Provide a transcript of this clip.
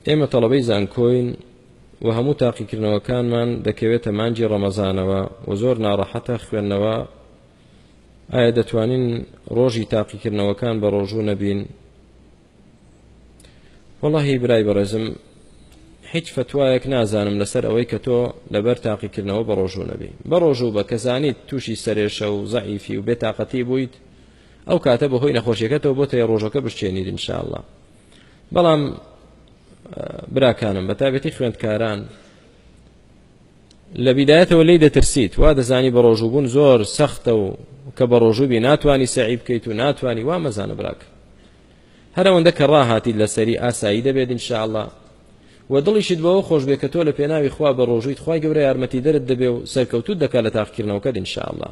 ئێمە تەڵەبەی زانکۆین و هەموو تاقیکردنەوەکانمان دەکەوێتە مانگی ڕەمەزانەوە و زۆر ناڕەحەتە خوێندنەوە، ئایا دەتوانین ڕۆژی تاقیکردنەوەکان بە ڕۆژوو نەبین؟ وەڵاهی برای بەڕێزم هیچ فتوایەک نازانم لەسەر ئەوەی کە تۆ لەبەر تاقیکردنەوە بە ڕۆژوو نەبی. بە ڕۆژوو بە کە زانیت تووشی سەرێشە و زەعیفی و بێتاقەتی بوویت، ئەو کاتە بەهۆی نەخۆشیەکەتەوە بۆ تێ ڕۆژەکە بشکێنیت ئینشاءاللە. بەڵام براکانم بە تایبەتی خوێندکاران لە بیدایەتەوە لی دەترسیت، وا دەزانی بە ڕۆژووبوون زۆر سەختە و کە بە ڕۆژوو بی ناتوانی سەعی بکەیت و ناتوانی، وا مەزانە براک. هەر ئەوەندە کە ڕاهاتیت لەسەری ئاسایی دەبێت ئینشاءاللە و دڵیشت بەوە خۆش بێ کە تۆ لە پێناوی خوا بە ڕۆژوویت، خوای گەورە یارمەتیدەرت دەبێ و سەرکەوتوت دەکات لە تاقیکردنەوەکەت ئینشاءاللە.